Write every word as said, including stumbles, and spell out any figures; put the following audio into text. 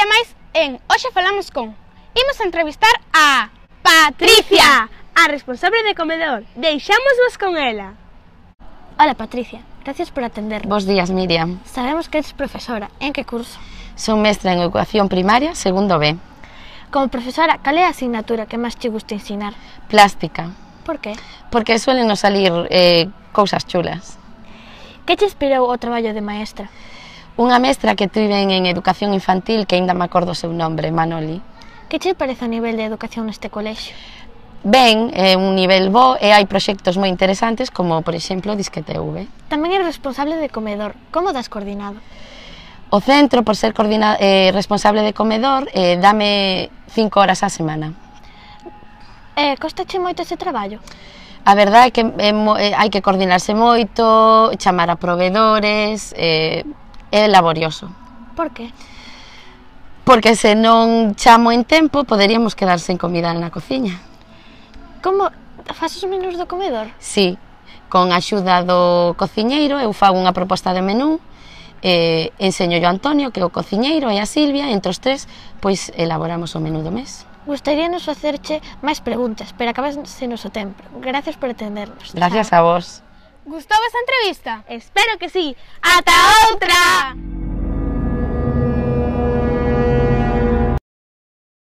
día máis en Hoxe Falamos con. Imos a entrevistar a Patricia, a responsable de comedor. Deixámosvos con ela. Hola Patricia, gracias por atender. Bos días, Miriam. Sabemos que eres profesora. En que curso? Son mestra en educación primaria, segundo B. Como profesora, cal é a asignatura que máis che gusta ensinar? Plástica. Por que? Porque suelen nos salir eh, cousas chulas. Que che inspirou o traballo de maestra? Unha mestra que tiven en educación infantil, que aínda me acordo o seu nombre, Manoli. Que che parece o nivel de educación neste colexio? Ben, é un nivel bo e hai proxectos moi interesantes como, por exemplo, Disque T V. Tamén eres responsable de comedor. Como das coordinado? O centro, por ser coordina, eh, responsable de comedor, eh, dame cinco horas á semana. Eh, costache moito ese traballo? A verdade é que é, é, hai que coordinarse moito, chamar a proveedores, eh, é laborioso. Por que? Porque se non chamo en tempo, poderíamos quedar sen comida na cociña. Como faz os menús do comedor? Sí, con a axuda do cociñeiro, eu fago unha proposta de menú, eh, enseño yo a Antonio, que é o cociñeiro, e a Silvia, entre os tres, pois elaboramos o menú do mes. Gustaríanos facerche máis preguntas, pero acabase o noso tempo. Gracias por atendernos. Gracias a vos. Gustou esta entrevista? Espero que sí. Ata outra!